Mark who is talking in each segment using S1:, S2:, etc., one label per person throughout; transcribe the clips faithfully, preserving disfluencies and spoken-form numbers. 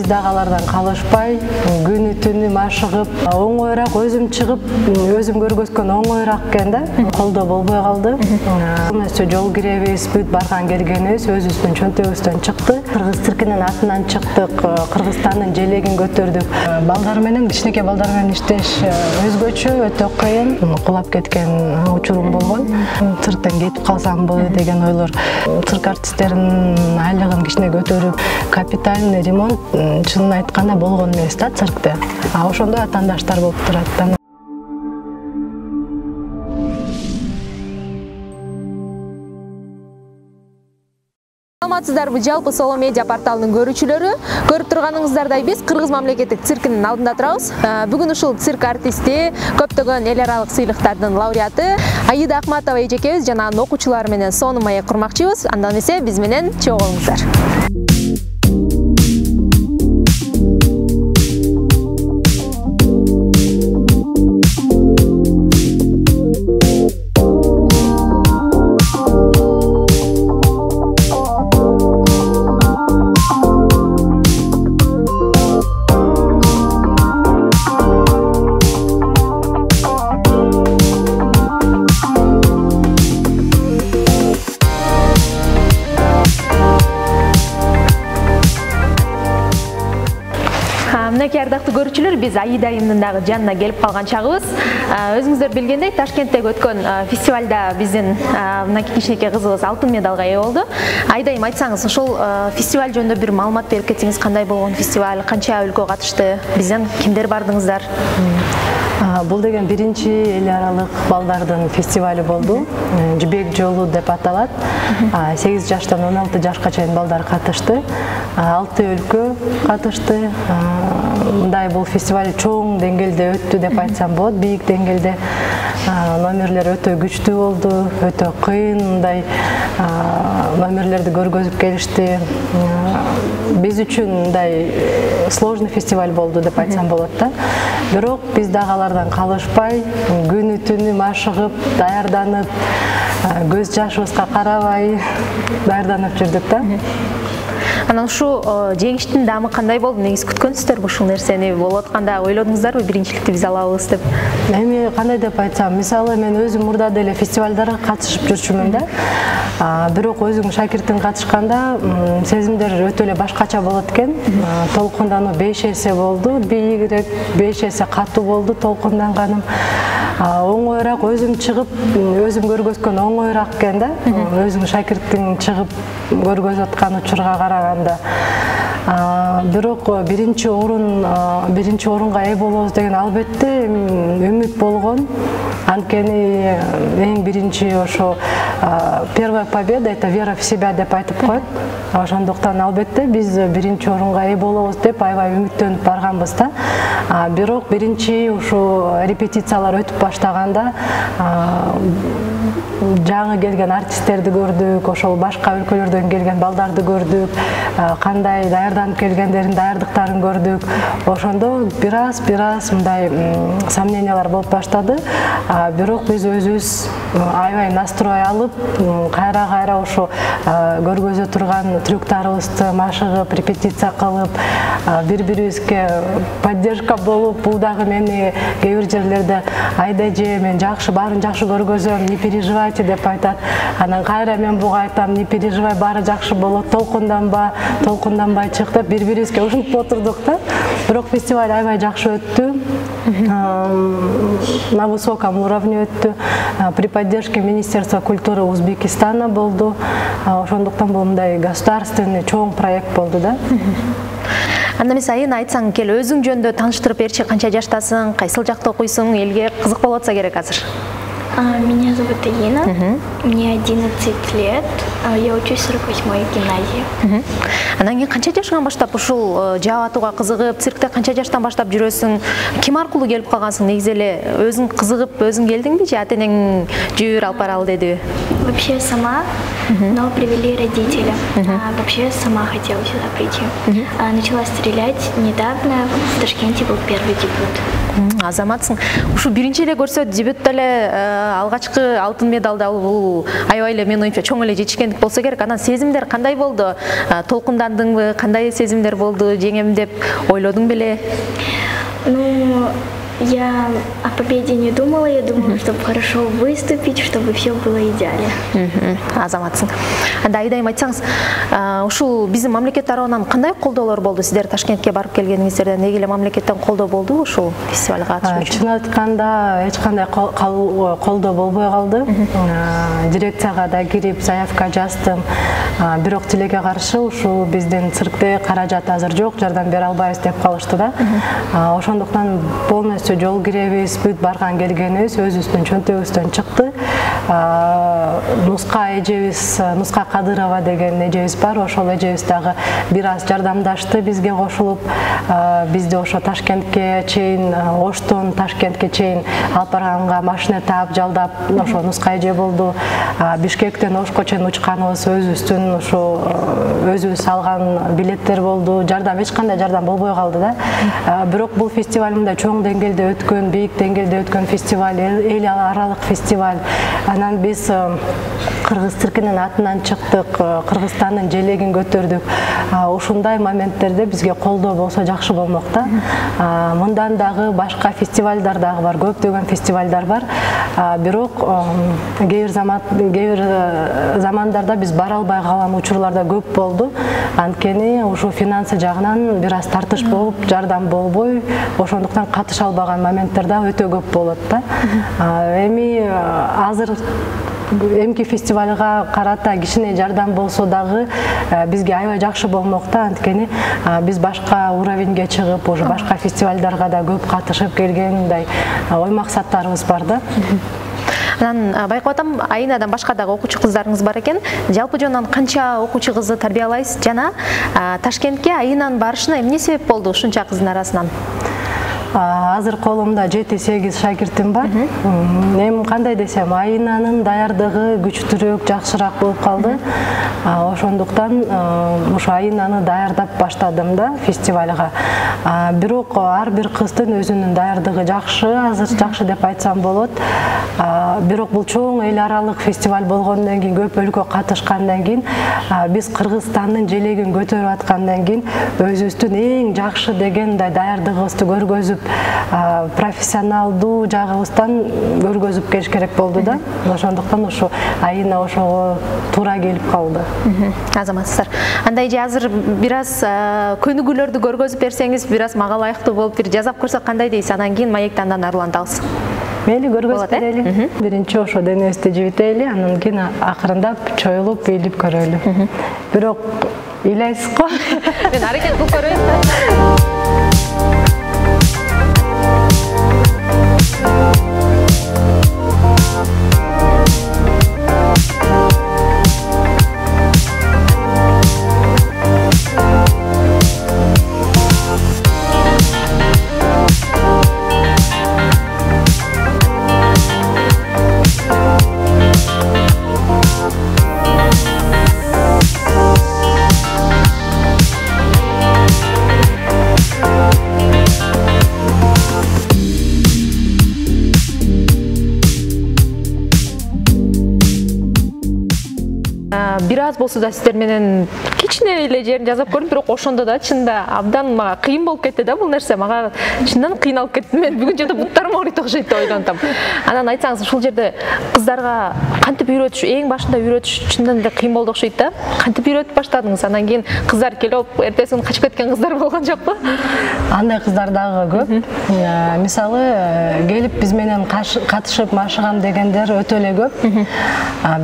S1: Дагы алардан калышпай, күнү түнү машыгып, оңоюраак өзүм чыгып, өзүм көргөзгөн оңоюраак экен да. Колдо болбой калды. Эмесе жол киребиз, бүт барган келгенибиз өзүбүздүн чөнтөгүбүздөн чыкты. Кыргыз циркинин атынан чыктык, Кыргызстандын желегин көтөрдүк. Балдар менен, кичинекей балдар менен иштеш өзгөчө, өтө кыйын. Кулап кеткен учурум болгон. Цирктен кетип калсамбы деген ойлор. Цирк артисттеринин айлыгын кичине көтөрүп, капитальный ремонт чынын айтканда болгон эмес да циркте. А ошондой атаандаштар болуп турат да.
S2: Саламатсыздарбы, жалпы Соло медиа порталынын көрүүчүлөрү? Көрүп турганыңыздардай биз Кыргыз мамлекеттик циркинин алдында турабыз. Бүгүн ушул цирк артисти, көптөгөн эл аралык сыйлыктардын лауреаты Аида Ахматова эжекебиз жана анын окуучулары менен сонун маек курмакчыбыз. Андан эмесе биз менен чогуу болуңуздар. Мынакей ардактуу көрүүчүлөр, биз Аида айымдын дагы жанына келип калган чагыбыз. Өзүңүздөр билгендей, Ташкенттеги өткөн фестивалда биздин мынакей кичинекей кызыбыз алтын медалга ээ болду. Аида айым, айтсаңыз, ошол фестиваль жөнүндө бир маалымат берип кетсеңиз, кандай болгон фестиваль, канча өлкө катышты, бизден кимдер бардыңыздар?
S1: Бул деген биринчи эл аралык балдардын фестивали болду. Жибек жолу деп аталат. сегиз жаштан он алты жашка чейин балдар катышты. алты өлкө катышты. Мындай бул фестиваль чоң деңгээлде өттү деп айтсам болот. Бийик деңгээлде номерлер өтө күчтүү болду, өтө кыйын мындай номерлерди көргөзүп келишти. Биз үчүн мындай сложный фестиваль болду деп айтсам болот да. Бирок биз дагы алардан калышпай, күнү түнү машыгып, даярданып, көз жашыбызга карабай даярданып жүрдүк да.
S2: Анан ушу жеңиштин даамы кандай болду? Негиз күткөнсүздөрбү ушул нерсени? Болуп атканда ойлодуңуздарбы биринчиликти биз алабыз деп?
S1: Эми кандай деп айтсам, мисалы мен өзүм мурда деле фестивалдарга катышып жүрчүмүн да. Бирок өзүң шакиртиң катышканда сезимдер өтө эле башкача болот экен. Толкундануу беш эсе болду, бийигирээк, беш эсе катуу болду толкунданганым. Оңоюраак өзүм чыгып, өзүм көргөзгөн оңоюраак экен да. Өзүң шакиртиң чыгып көргөзүп аткан учурга караганда. Бирок биринчи орун, биринчи орунга ээ болобуз деген албетте үмүт болгон. Анткени эң биринчи ошо первая победа — это вера в себя деп айтып коет. Ошондуктан албетте биз биринчи орунга ээ болобуз деп аябай үмүттөнүп барганбыз да. Бирок биринчи ушу репетициялар өтүп баштаганда жаңы келген артисттерди көрдүк, ошол башка өлкөлөрдөн келген балдарды көрдүк, кандай даярданып келгендерин, даярдыктарын көрдүк. Ошондо бир аз бир аз мындай сомнениялар болуп баштады. Бирок биз өзүбүз аябай настрой алып, кайра-кайра ошо көргөзө турган трюктарыбызды машыгып, репетиция кылып, бири-бирибизге поддержка болуп, бул дагы мени кээ бир жерлерде Айда эже, мен жакшы, баарын жакшы көргөзөм, не переживайте деп айтат. Анан кайра мен буга айтам, не переживай, баары жакшы болот, толкунданба, толкунданбай чык деп бири-бирибизге ушинтип отурдук да. Бирок фестиваль аябай жакшы өттү. На высоком уровне өттү. При поддержке Министерства культуры Узбекистана болду. Ошондуктан бул мындай государственный чоң проект болду да.
S2: Анда эмес, Айына айтсаң кел, өзүң жөнүндө тааныштырып берчи, канча жаштасың, кайсыл жакта окуйсуң, элге кызык болуп атса керек азыр.
S3: Меня зовут Ирина, мне одиннадцать лет, я учусь в сорок восьмой гимназии.
S2: Анан кийин канча жашынан баштап ушул жаап атууга кызыгып, циркте канча жаштан баштап жүрөсүң? Ким аркылуу келип калгансың? Негизи эле өзүң кызыгып, өзүң келдиңби же ата-энең жүр алып баралы дедиби?
S3: Вообще сама но привели родители. А вообще сама хотела сюда прийти. А начала стрелять недавно, в Ташкенте был первый дебют.
S2: Азаматсың. Ушу биринчи эле көрсөт дебютта эле алгачкы алтын медалды алуу бул аябай эле менин оюмча чоң эле жетишкендик болсо керек. Анан сезимдер кандай болду? Толкундандыңбы? Кандай сезимдер болду? Жеңем деп ойлодуң беле?
S3: Ну, я о победе не думала, я думала, чтобы хорошо выступить, чтобы все было идеально.
S2: Азаматсың. Анда айдайым айтсаңыз, ушул биздин мамлекет тарабынан кандай колдоолор болду? Сиздер Ташкентке барып келгениңиздерден деги эле мамлекеттен колдоо болду ушул фестивалга катышуу үчүн?
S1: Чын айтканда эч кандай колдоо болбой калды. Дирекцияга да кирип заявка жаздым. Бирок тилекке каршы ушул биздин циркте каражат азыр жок, жардам бере албайбыз деп калышты да. Ошондуктан полностью жол киребиз, бүт барган келгенибиз өзүбүздүн чөнтөгүбүздөн чыкты. Нуска эжебиз, Нуска Кадырова деген эжебиз бар, ошол эжебиз дагы бир аз жардамдашты бизге кошулуп, бизди ошо Ташкентке чейин, Оштон Ташкентке чейин алып барганга машина таап жалдап, ошо Нуска эже болду. Бишкектен Ошко чейин учканыбыз өзүбүздүн ошо өзүбүз алган билеттер болду. Жардам эч кандай жардам болбой калды да. Бирок бул фестиваль мындай чоң деңгээлде өткөн, бийик деңгээлде өткөн фестиваль, эл аралык фестиваль. Анан биз Кыргыз циркинин атынан чыктык, Кыргызстандын желегин көтөрдүк. Ушундай моменттерде бизге колдоо болсо жакшы болмок да. Мындан дагы башка фестивалдар дагы бар, көптөгөн фестивалдар бар. Бирок кээ бир замандарда биз бара албай калган учурларда көп болду. Анткени ушу финансы жагынан бир аз тартыш болуп, жардам болбой, ошондуктан катыша албаган моменттер да өтө көп болот да. Эми азыр эмки фестивалга карата кичине жардам болсо дагы бизге аябай жакшы болмок да. Анткени биз башка уровеньге чыгып, уже башка фестивалдарга да көп катышып келген мындай ой максаттарыбыз бар да.
S2: Анан байкап атам, Айнадан башка дагы окуучу кыздарыңыз бар экен. Жалпы жонунан канча окуучу кызды тарбиялайсыз жана Ташкентке Айнанын барышына эмне себеп болду ушунча кыздын арасынан?
S1: Азыр колумда жети сегиз шакиртим бар. Эми кандай десем, Айнанын даярдыгы күчтүүрөөк, жакшыраак болуп калды. Ошондуктан ушу Айнаны даярдап баштадым да фестивалга. Бирок ар бир кыздын өзүнүн даярдыгы жакшы, азыр жакшы деп айтсам болот. Бирок бул чоң эл аралык фестиваль болгондон кийин, көп өлкө катышкандан кийин, биз Кыргызстандын желегин көтөрүп аткандан кийин өзүбүздүн эң жакшы деген даярдыгыбызды көргөзүп, профессионалдуу жагыбыздан көргөзүп келиш керек болду да. Ошондуктан ушу Айна ошого туура келип калды.
S2: Азаматсыздар. Андай же азыр бир аз көнүгүүлөрдү көргөзүп берсеңиз, бир аз мага ылайыктуу болуп бир жасап көрсөк кандай дейсиз? Анан кийин маектен андан арлантабыз.
S1: Мейли көргөзүп берели. Биринчи ошо денебизди жибители, анан кийин акырындап чоюлуп, бийлип көрөлү. Бирок ыйлайсыз го?
S2: Мен аракет кылып көрөйүн да. Бир аз болсо да сиздер менен кичине эле жерин жасап көрдүм, бирок ошондо да чында абдан мага кыйын болуп кетти да бул нерсе. Мага чындан кыйналып кеттим. Мен бүгүн жада буттарым ооруйт окшойт деп ойлонтам. Анан айтсаңыз, ушул жерде кыздарга кантип үйрөтүш, эң башында үйрөтүш чындан эле кыйын болду окшойт да. Кантип үйрөтүп баштадыңыз? Анан кийин кыздар келип, эртеси күнү качып кеткен кыздар болгон жокпу?
S1: Андай кыздар дагы көп. Мисалы, келип биз менен катышып машыгам дегендер өтө эле көп.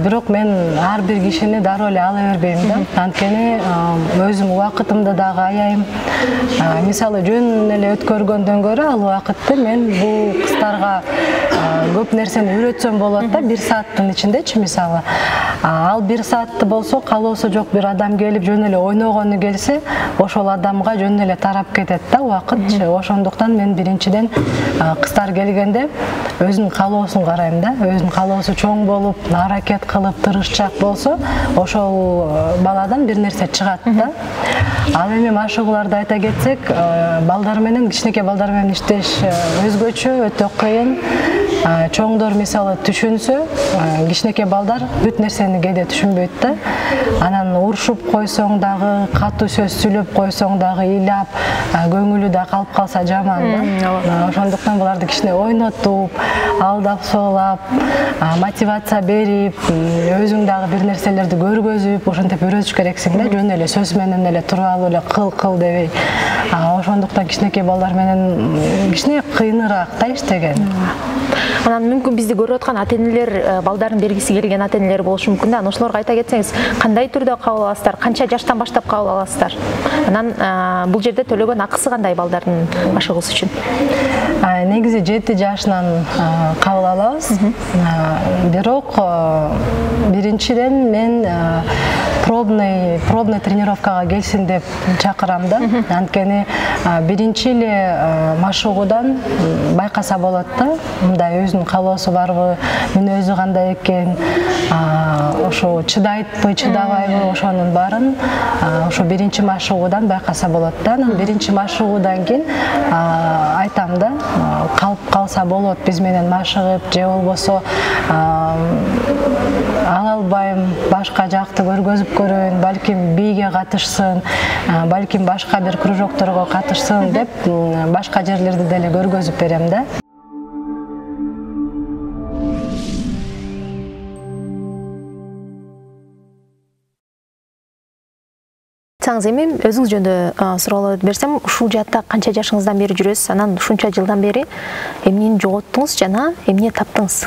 S1: Бирок мен ар бир кишини дароо эле ала бербейм да. Анткени анткени өзүм убакытымды дагы аяйм. Мисалы жөн эле өткөргөндөн көрө ал убакытты мен бул кыздарга көп нерсени үйрөтсөм болот да, бир сааттын ичиндечи мисалы. Ал бир саатты болсо калоосу жок бир адам келип жөн эле ойногону келсе, ошол адамга жөн эле тарап кетет да убакытчы. Ошондуктан мен биринчиден кыздар келгенде өзүнүн калоосун карайм да. Өзүнүн калоосу чоң болуп, аракет кылып, тырышчак болсо, ошол баладан бир нерсе чыгат да. Ал эми машыгууларды айта кетсек, балдар менен, кичинекей балдар менен иштеш өзгөчө, өтө кыйын. Чоңдор мисалы түшүнсө, кичинекей балдар бүт нерсени кээде түшүнбөйт да. Анан урушуп койсоң дагы, катуу сөз сүйлөп койсоң дагы ыйлап, көңүлү да калып калса жаман да. Ошондуктан буларды кичине ойнотуп, алдап соолап, мотивация берип, өзүң дагы бир нерселерди көргөзүп, ошентип үйрөтүш керексиң да. Жөн эле сөз менен эле туруп алып эле кыл кыл дебей. Ошондуктан кичинекей балдар менен кичине кыйыныраак да иштеген.
S2: Анан мүмкүн бизди көрүп аткан ата-энелер, балдарын бергиси келген ата-энелер болушу мүмкүн да. Ошолорго айта кетсеңиз, кандай түрдө кабыл аласыздар, канча жаштан баштап кабыл аласыздар? Анан бул жерде төлөгөн акысы кандай балдардын машыгуусу үчүн?
S1: Негизи жети жашынан кабыл алабыз. Бирок биринчиден мен пробный пробный тренировкага келсин деп чакырам да. Анткени биринчи эле машыгуудан байкаса болот да. Мындай өзүнүн калоосу барбы, мүнөзү кандай экен, ошо чыдайтпы, чыдабайбы, ошонун баарын ошо биринчи машыгуудан байкаса болот да. Анан биринчи машыгуудан кийин айтам да, калып калса болот биз менен машыгып, же болбосо ала албайм, башка жакты көргөзүп көрөйүн, балким бийге катышсын, балким башка бир кружокторго катышсын деп башка жерлерди деле көргөзүп берем да.
S2: Айтсаңыз, эми өзүңүз жөнүндө суроолор берсем, ушул жаатта канча жашыңыздан бери жүрөсүз? Анан ушунча жылдан бери эмнени жоготтуңуз жана эмне таптыңыз?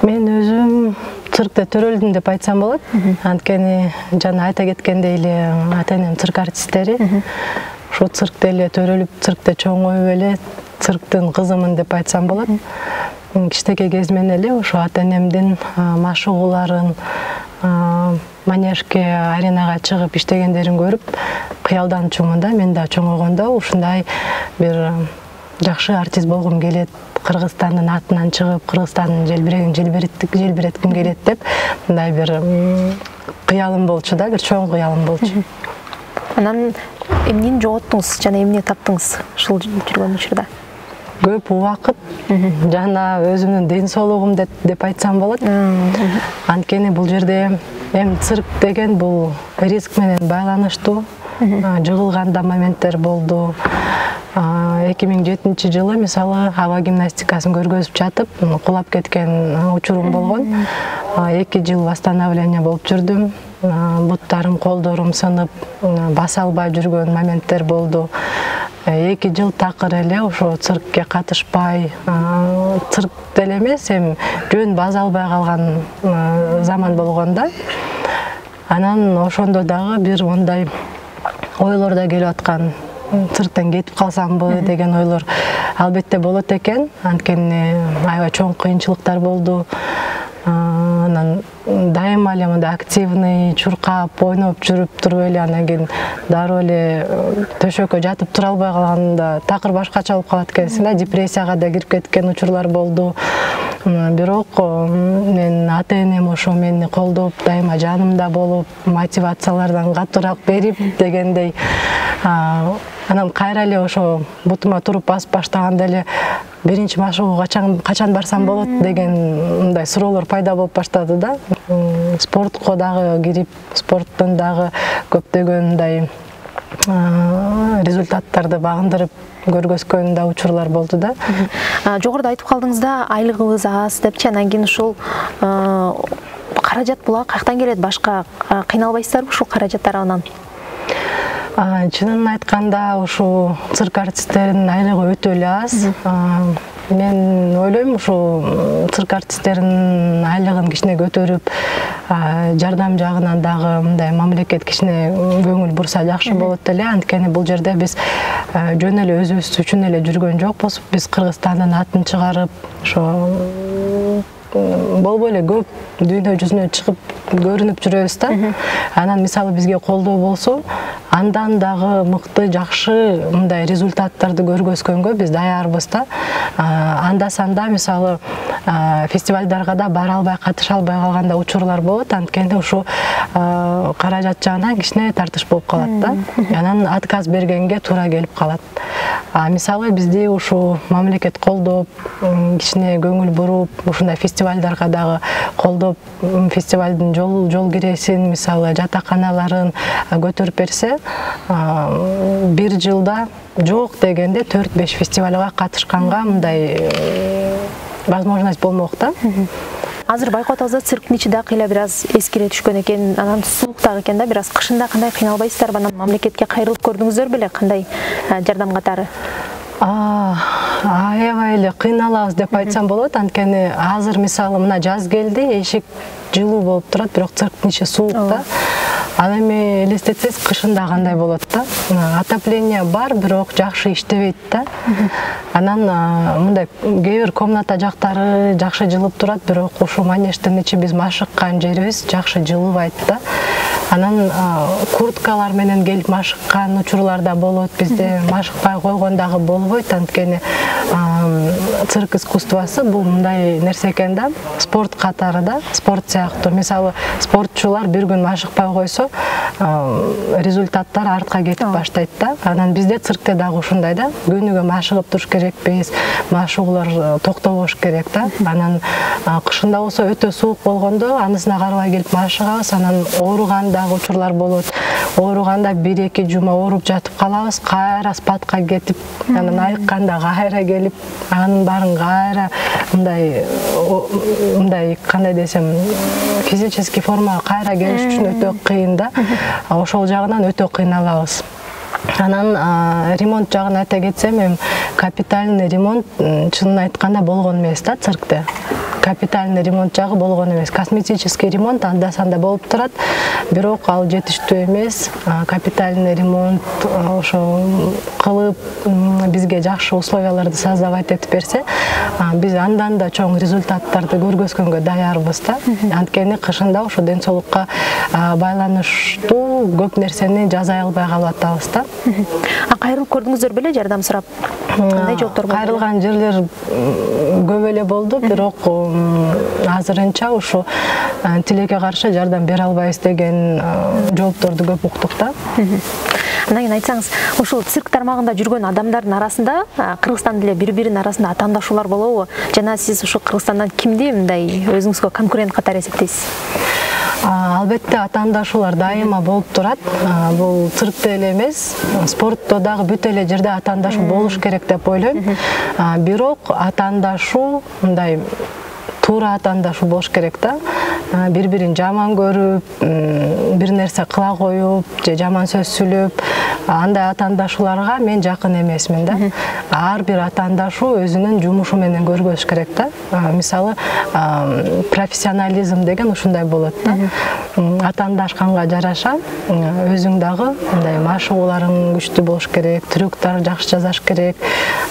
S1: Мен өзүм циркте төрөлдүм деп айтсам болот. Анткени жана айта кеткендей эле ата-энем цирк артисттери. Ошо циркте эле төрөлүп, циркте чоңоюп эле цирктин кызымын деп айтсам болот. Кичинекей кезимден эле ошо ата-энемдин машыгууларын, манежге, аренага чыгып иштегендерин көрүп, кыялданчумун да. Мен да чоңойгондо ушундай бир жакшы артист болгум келет, Кыргызстандын атынан чыгып, Кыргызстандын желбирегин желбиретким келет деп, мындай бир кыялым болчу да, бир чоң кыялым болчу.
S2: Анан эмнени жоготтуңуз жана эмне таптыңыз ушул жүргөн учурда?
S1: Көп убакыт жана өзүмдүн ден соолугум деп айтсам болот. Анткени бул жерде эми цирк деген бул риск менен байланыштуу. Жыгылган да моменттер болду. эки миң жетинчи жылы мисалы аба гимнастикасын көргөзүп жатып, кулап кеткен учурум болгон. эки жыл восстановление болуп жүрдүм. Буттарым, колдорум сынып, баса албай жүргөн моменттер болду. эки жыл такыр эле ошо циркке катышпай, цирк деле эмес, эми жөн база албай калган заман болгон да. Анан ошондо дагы бир мындай ойлор да келип аткан. Цирктен кетип калсамбы деген ойлор албетте болот экен. Анткени аябай чоң кыйынчылыктар болду. Анан дайыма эле мындай активный, чуркап, ойноп жүрүп туруп эле анан кийин дароо эле төшөккө жатып тура албай калганда такыр башкача болуп калат экенсиң да, депрессияга да кирип кеткен учурлар болду. Бирок мен ата-энем ошо мени колдоп, дайыма жанымда болуп, мотивациялардан катуураак берип дегендей. Анан кайра эле ошо бутума туруп басып баштаганда эле биринчи машыгууга качан качан барсам болот деген мындай суроолор пайда болуп баштады да. Спортко дагы кирип, спорттон дагы көптөгөн мындай результаттарды багындырып көргөзгөн да учурлар болду да.
S2: Жогоруда айтып калдыңыз да, айлыгыбыз аз депчи, анан кийин ушул каражат була каяктан келет? Башка кыйналбайсыздарбы ушул каражат тарабынан?
S1: Чынын айтканда, ушу цирк артисттеринин айлыгы өтө эле аз. Мен ойлойм, ушу цирк артисттеринин айлыгын кичине көтөрүп, жардам жагынан дагы мындай мамлекет кичине көңүл бурса жакшы болот эле. Анткени бул жерде биз жөн эле өзүбүз үчүн эле жүргөн жокпуз. Биз Кыргызстандын атын чыгарып, ошо болбой эле көп дүйнө жүзүнө чыгып көрүнүп жүрөбүз да. Анан мисалы бизге колдоо болсо, андан дагы мыкты, жакшы мындай результаттарды көргөзгөнгө биз даярбыз да. Анда санда мисалы фестивалдарга да бара албай, катыша албай калганда учурлар болот. Анткени ушу каражат жагынан кичине тартыш болуп калат да. Анан отказ бергенге туура келип калат. А мисалы бизди ушу мамлекет колдоп, кичине көңүл буруп, ушундай фестивалдарга дагы колдоп, фестивалдын жол жол киресин, мисалы жатаканаларын көтөрүп берсе, бир жылда жок дегенде төрт беш фестивалга катышканга мындай возможность болмок да.
S2: Азыр байкоот алсак, цирктин ичи да кыйла бир аз эскире түшкөн экен, анан суук дагы экен да, бир аз кышында кандай кыйналбайсыздарбы? Анан мамлекетке кайрылып көрдүңүздөр беле, кандай жардам катары?
S1: Аябай эле кыйналабыз деп айтсам болот. Анткени азыр мисалы мына жаз келди, эшик жылуу болуп турат, бирок цирктин ичи суук да. Ал эми элестетсеңиз, кышында кандай болот да. Отопление бар, бирок жакшы иштебейт да. Анан мындай кээ бир комната жактары жакшы жылып турат, бирок ушул манеждин ичи биз машыккан жерибиз жакшы жылыбайт да. Анан курткалар менен келип машыккан учурлар да болот. Бизде машыкпай койгон дагы болбойт. Анткени цирк искусствосы бул мындай нерсе экен да. Спорт катары да, спорт сыяктуу. Мисалы, спортчулар бир күн машыкпай койсо, результаттар артка кетип баштайт да. Анан бизде циркте дагы ушундай да. Күнүгө машыгып туруш керекпиз, машыгуулар токтобош керек да. Анан кышында болсо өтө суук болгондо анысына карабай келип машыгабыз. Анан ооруган дагы учурлар болот. Ооруганда бир эки жума ооруп жатып калабыз, кайра спадка кетип, анан айыкканда кайра келип, анын баарын кайра мындай мындай кандай десем, физический формага кайра келиш үчүн өтө кыйын да. Ошол жагынан өтө кыйналабыз. Анан ремонт жагын айта кетсем, эми капитальный ремонт чынын айтканда болгон эмес да циркте. Капитальный ремонт жагы болгон эмес. Косметический ремонт анда санда болуп турат, бирок ал жетиштүү эмес. Капитальный ремонт ошо кылып бизге жакшы условияларды создавать этип берсе, биз андан да чоң результаттарды көргөзгөнгө даярбыз да. Анткени кышында ошо ден соолукка байланыштуу көп нерсени жасай албай калып атабыз да.
S2: А кайрылып көрдүңүздөр беле жардам сурап? Кандай жооптор болду?
S1: Кайрылган жерлер көп эле болду, бирок азырынча ушу тилекке каршы жардам бере албайбыз деген жоопторду көп уктук да.
S2: Андан кийин айтсаңыз, ушул цирк тармагында жүргөн адамдардын арасында Кыргызстан деле бири-биринин арасында атаандашуулар болобу? Жана сиз ушул Кыргызстандан кимди мындай өзүңүзгө конкурент катары эсептейсиз?
S1: Албетте атаандашуулар дайыма болуп турат. Бул циркте эле эмес, спортто дагы бүт эле жерде атаандашуу болуш керек деп ойлойм. Бирок атаандашуу мындай туура атаандашуу болуш керек да. Бири-бирин жаман көрүп, бир нерсе кыла коюп, же жаман сөз сүйлөп, андай атаандашууларга мен жакын эмесмин да. Ар бир атаандашуу өзүнүн жумушу менен көргөзүш керек да. Мисалы, профессионализм деген ушундай болот да. Атаандашканга жараша өзүң дагы мындай машыгууларың күчтүү болуш керек, трюктар жакшы жасаш керек.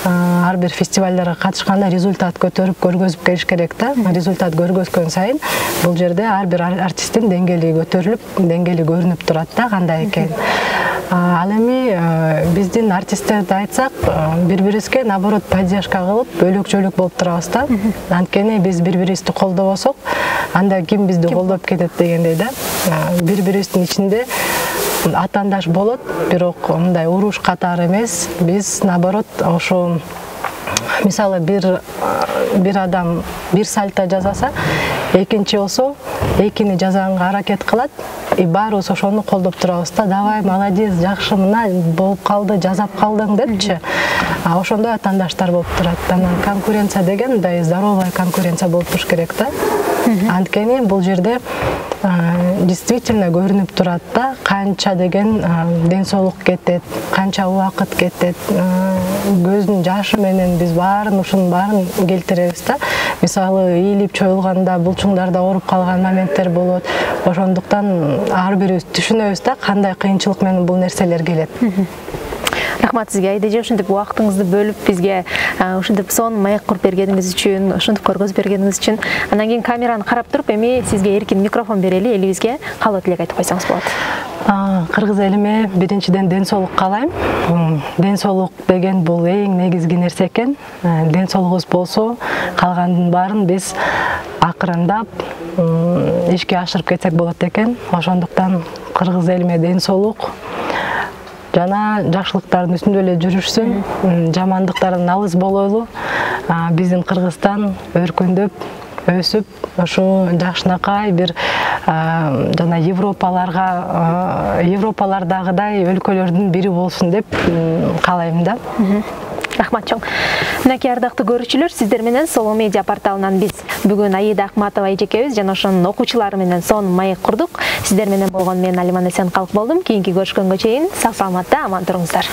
S1: Ар бир фестивалдарга катышканда результат көтөрүп көргөзүп келиш керек да. Результат көргөзгөн сайын бул жерде ар бир артисттин деңгээли көтөрүлүп, деңгээли көрүнүп турат да, кандай экен. Ал эми биздин артисттерди айтсак, бири-бирибизге наоборот поддержка кылып, бөлөк-жөлөк болуп турабыз да. Анткени биз бири-бирибизди колдобосок, анда ким бизди колдоп кетет дегендей да. Бири-бирибиздин ичинде атаандаш болот, бирок мындай уруш катары эмес. Биз наоборот ошо мисалы бир бир адам бир сальто жасаса, экинчи болсо экини жасаганга аракет кылат, и баарыбыз ошону колдоп турабыз да. Давай, молодец, жакшы, мына болуп калды, жасап калдың депчи. А ошондой атаандаштар болуп турат. Анан конкуренция деген мындай здоровая конкуренция болуп туруш керек да. Анткени бул жерде действительно көрүнүп турат да, канча деген ден соолук кетет, канча убакыт кетет. көздүн жашы менен биз баарын ушунун баарын келтиребиз да. Мисалы ийилип чоюлганда булчуңдарда ооруп калган моменттер болот. Ошондуктан ар бирибиз түшүнөбүз да кандай кыйынчылык менен бул нерселер келет.
S2: Рахмат сизге Айда, ушинтип убактыңызды бөлүп бизге ушинтип сонун маек куруп бергениңиз үчүн, ушинтип көргөзүп бергениңиз үчүн. Андан кийин камераны карап туруп, эми сизге эркин микрофон берели, элибизге каалоо тилек айтып койсоңуз болот.
S1: Кыргыз элиме биринчиден ден соолук каалайм. Ден соолук деген бул эң негизги нерсе экен. Ден соолугубуз болсо, калгандын баарын биз акырындап ишке ашырып кетсек болот экен. Ошондуктан кыргыз элиме ден соолук жана жакшылыктардын үстүндө эле жүрүшсүн, жамандыктардан алыс бололу. Биздин Кыргызстан өркүндөп, өсүп, ошо жакшынакай бир жана Европаларга, Европалардагыдай өлкөлөрдүн бири болсун деп каалайм да.
S2: Рахмат чоң. Мынакей ардактуу көрүүчүлөр, сиздер менен Solo Media порталынан биз бүгүн Аида Акматова эжекебиз жана ошонун окуучулары менен сонун маек курдук. Сиздер менен болгон мен Алиман Эсенкалк болдум. Кийинки көрүшкөнгө чейин сак саламатта аман туруңуздар.